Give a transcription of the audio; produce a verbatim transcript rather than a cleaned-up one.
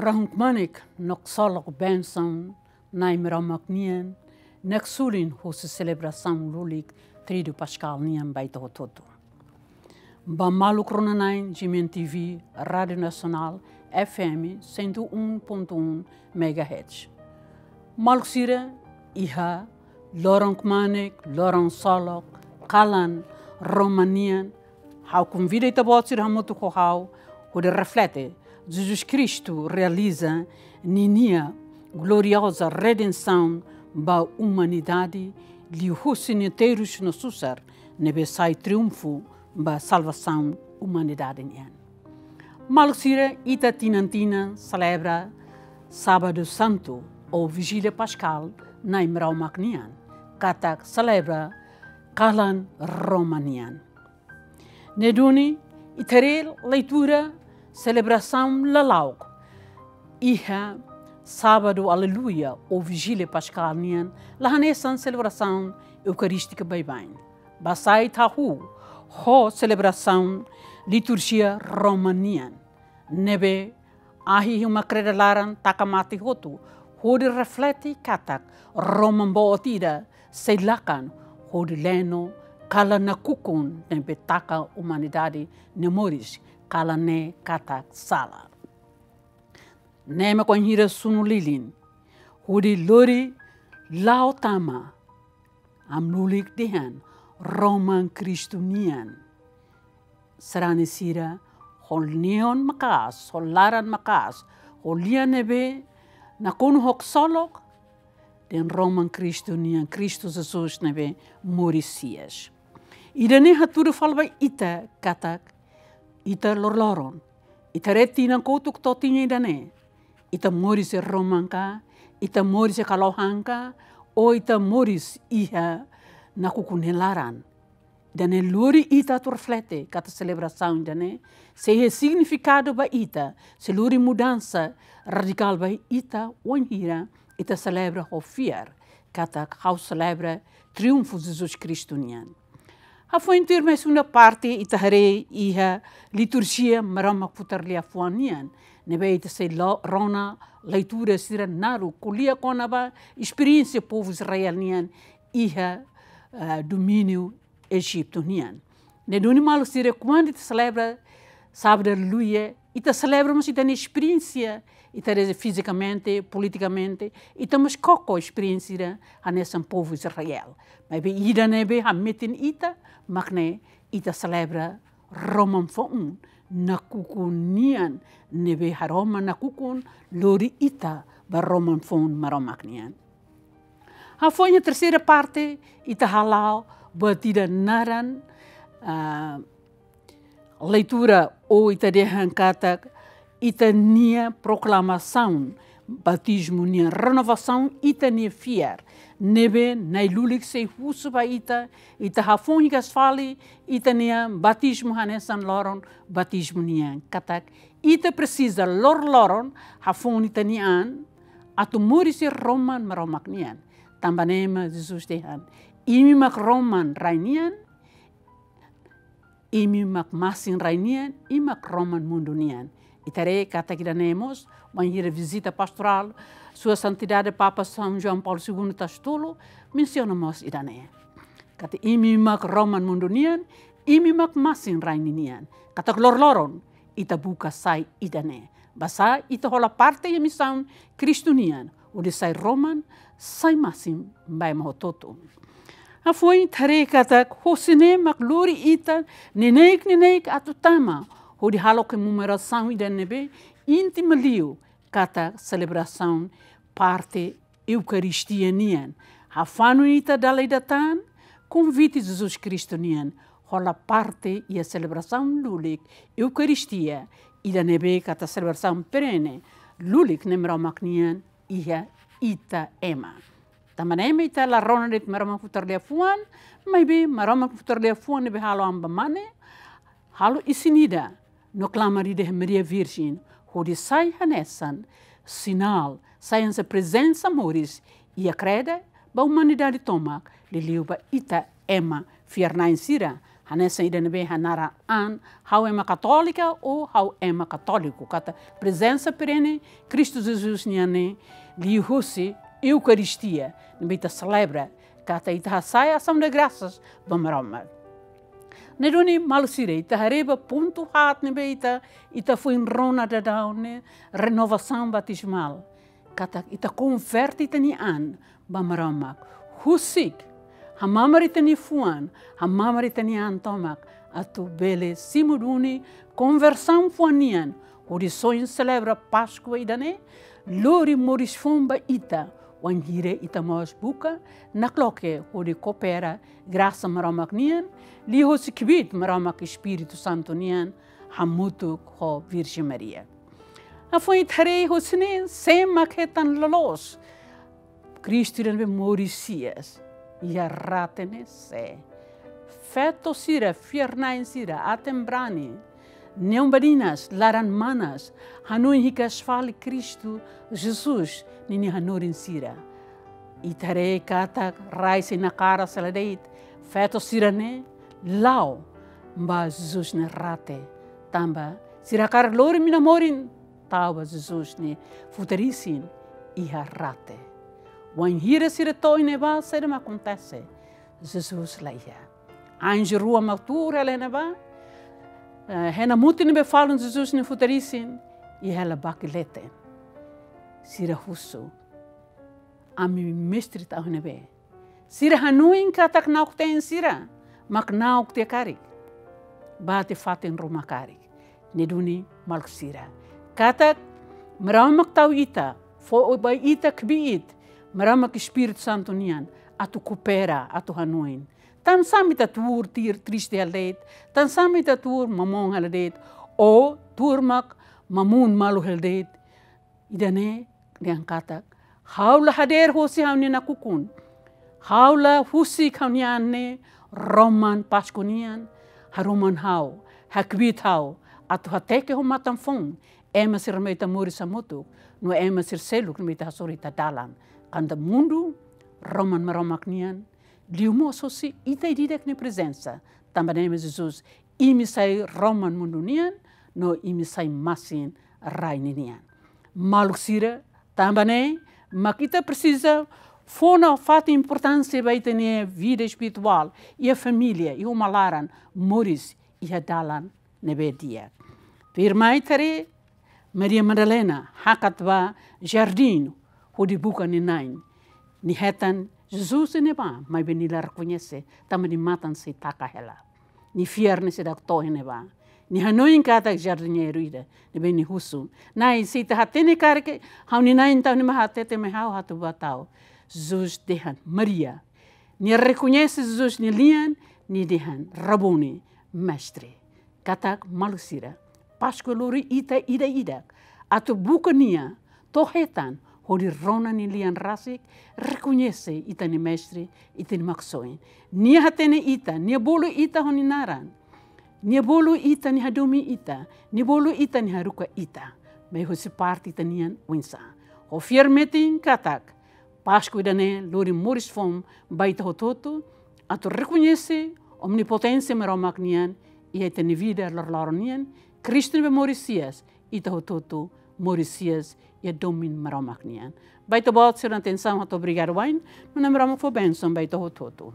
Rahun kmanek no ksolok bensaun Na'i Maromak nian, naksulin husi selebrasaun lulik Tridu Paskál nian ba ita hotu-hotu. Ba maluk rona-na'in GMN TV, Rádiu Nasionál, FM cento e um ponto um megahertz. Maluk sira, iha loron kmanek, loron ksolok, kalan Roman nian, ha'u konvida ita-boot sira hamutuk ho ha'u hodi reflete Jesus Kristu realiza ninia glorioza redensaun ba umanidade, liuhusi nia terus no susar ne'ebé sai triunfu ba salvasaun umanidade nian. Maluk sira, ita tinan-tinan selebra Sábadu Santu ou Vijília Paskál Na'i Maromak nian, katak selebra kalan Roman nian. Ne'e duni, ita haree leitura selebrasaun lala'ok iha Sábadu Aleluia ou Vijília Paskál nian, la hanesan selebrasaun eukarístika baibain. Basá ita hahú ho selebrasaun liturjia Roman nian, ne'ebé ahi uma kreda laran taka mate hotu, hodi reflete katak Roman boot ida sei lakan hodi leno kalan nakukun ne'ebé taka umanidade nia moris, kalan ne'e katak sala. Ne'e mak wainhira sunu lilin hodi lori la'o tama, ami lulik dehan Roman Kristu nian. Sarani sira, ho neon maka'as, ho laran maka'as, ho lian ne'ebé nakonu ho ksolok, dehan Roman Kristu nian, Kristu Jesus ne'ebé moris hi'as. Ida-ne'e hatudu fali ba ita katak ita loroloron, ita haree tinan kotuk to'o tinan ida-ne'e, ita moris iha Roman ka, ita moris iha kalohan ka, ou ita moris iha nakukun nia laran. Ida-ne'e lori ita atu reflete katak selebrasaun ida-ne'e sei iha signifikadu ba ita, sei lori mudansa radikál ba ita wainhira ita selebra ho fiar katak ha'u selebra triunfu Jesus Kristu nian. Hafoin tuirmai segunda parte ita haree iha liturjia Maromak Futar Liafuan nian, ne'ebé ita sei lo-, rona leitura sira naruk ko'alia kona-ba esperiénsia povu Israel nian iha, eh, domíniu Ejitu nian. Ne'e duni maluk sira, kuandu ita selebra Sábadu Aleluia, ita selebra mós ita-nia esperiénsia, ita haree fizikamente, politikamente, ita mós koko esperiénsia ida hanesan povu Israel. Maibé ida ne'ebé hametin ita, mak ne'e ita selebra Roman foun nakukun nian, ne'ebé haroman nakukun lori ita ba Roman foun Maromak nian. Hafoin iha terseira parte, ita hala'o buat ida naran, ah, leitura ou ita dehan katak ita-nia proklamasaun batizmu nian, renovasaun ita-nia fiar. Ne'ebé Na'i lulik sei husu ba ita, ita hafoin hikas fali ita-nia batizmu hanesan loron batizmu nian. Katak ita presiza loroloron hafoin ita-nia an atu moris iha Roman Maromak nian. Tanba ne'e mak Jesus dehan, imi mak Roman rai nian, imi mak masin rai nian, imi mak Roman mundu nian. Ita haree katak ida-ne'e mós, wainhira vizita pastorál Sua Santidade Papa São João Paulo Segundo Tasitolu, mensiona mós ida-ne'e. Katak imi mak Roman mundu nian, imi mak masin rai ninian. Katak loroloron, ita buka sai ida-ne'e. Basá ita hola parte iha misaun Kristu nian, hodi sai Roman, sai masin ba ema hotu-hotu. Hafoin ita haree katak husi ne'e mak lori ita neineik-neineik atu tama hodi halo komemorasaun ida ne'ebé íntima liu, katak selebrasaun parte Eukaristia nian. Hafanu ita dala ida tan konvite Jesus Kristu nian, hola parte iha selebrasaun lulik Eukaristia, ida ne'ebé katak selebrasaun perene lulik Na'i Maromak nian iha ita ema. Tanba ne'e mak ita la rona de'it Maromak Futar Liafuan, maibé Maromak Futar Liafuan ne'ebé halo ami ba mane, halo isin ida no klamar ida iha Maria Virjen, hodi sai hanesan sinál, sai hanesan prezensa moris iha kreda ba umanidade tomak, liuliu ba ita ema fiar-na'in sira, Hanesan ida ne'ebé hanaran an, ha'u ema katólika ou ha'u ema katóliku. Katak prezensa perene Kristu Jesus nian ne'e liuhosi Eukaristia ne'ebé ita selebra, katak ita hasai asaun de grasas ba Maromak. Ne'e duni maluk sira, ita haree ba pontu haat ne'ebé ita, ita foin rona daudaun ne'e, renovasaun batizmál. Katak ita konverte ita-nia an ba Maromak. Husik, hamamar ita-nia fuan, hamamar ita-nia an tomak, atu bele simu duni konversaun fuan nian, hodi soin selebra Páskua ida-ne'e, lori moris foun ba ita, wainhira ita mós buka nakloke hodi koopera grasa Maromak nian, liuhosi kbiit Maromak Espíritu Santu nian, hamutuk ho Virjen Maria. Hafoin ita haree hosi ne'e, sé mak hetan loloos Kristu ida ne'ebé moris hi'as iha rate ne'e sé? Feto sira, fiar-na'in sira, aten-brani, neon-badinas, laran-manas, hanoin hikas fali Kristu Jesus ninia hanorin sira. Ita haree katak rai sei nakaras hela de'it, feto sira-ne'e la'o ba Jesus nia rate. Tanba sira hakarak lori mina-morin tau ba Jesus nia futar isin iha rate. Wainhira sira to'o iha ne'ebá, saida mak akontese? Jesus la iha. Anju rua mak tuur hela iha ne'ebá, eh, hena mutin ne'ebé falun Jesus nia futar isin, iha hela baki leten. Sira husu: Ami Mestre tau iha ne'ebé? Sira hanoin katak na'ok-teen sira mak na'ok tiha karik, bá tiha fatin ruma karik. Ne'e duni maluk sira, katak Maromak tau ita, fó ba ita kbiit Maromak Espíritu Santu nian, atu koopera, atu hanoin. Tansá mak ita tuur tir-, triste hela de'it, tansá mak ita tuur mamon hela de'it, ou tuur mak mamun malu hela de'it. Ida-ne'e dehan katak, ha'u la hadeer hosi ha'u-nia nakukun. Ha'u la husik ha'u-nia an ne'e roman Páskua nian, haroman ha'u, hakbiit ha'u, atu hateke ho matan foun ema sira ne'ebé ita moris hamutuk, no ema sira seluk ne'ebé ita hasoru iha ita dalan. Katak mundu roman Maromak nian, liu mós hosi ita ida-idak nia prezensa. Tanba ne'e mak Jesus, imi sai roman mundu nian, no imi sai masin rai ninian. Maluk sira, tanba ne'e mak ita presiza fó nafatin importánsia ba ita-nia vida espirituál, iha família, iha uma laran, moris iha dalan ne'ebé di'ak. Tuirmai ita haree, Maria Madalena hakat ba jardín hodi buka nia na'in. Nia hetan Jesus iha ne'ebá, maibé nia la rekoñese, tanba nia matan sei taka hela. Nia fiar nia seidauk to'o iha ne'ebá. Nia hanoin katak jardiñeiru ida ne'ebé nia husu: Na'i, se ita hatene karik ha'u-nia na'in tau iha ne'ebá, hatete mai ha'u atu bá tau. Jesus dehan: Maria. Nia rekoñese Jesus nia lian, nia dehan: Rabuni, Mestre. Katak maluk sira, Páskua lori ita ida-idak atu buka nia, to'o hetan, hodi rona nia lian rasik, rekoñese ita-nia Mestre, ita-nia Maksoin. Nia hatene ita, nia bolu ita ho nia naran. Nia bolu ita, nia hadomi ita, nia bolu ita, nia haruka ita. Mai hosi parte ita-nian oinsá? Ho fiar metin katak Páskua ida-ne'e lori moris foun ba ita hotu-hotu, atu rekoñese omnipoténsia Maromak nian iha ita-nia vida loroloron nian, Kristu ne'ebé moris hi'as, ita hotu-hotu moris hi'as iha domin Maromak nian. Ba ita-boot sira-nia atensaun, ha'u hato'o obrigadu wa'in, no Na'i Maromak fó bensaun ba ita hotu-hotu.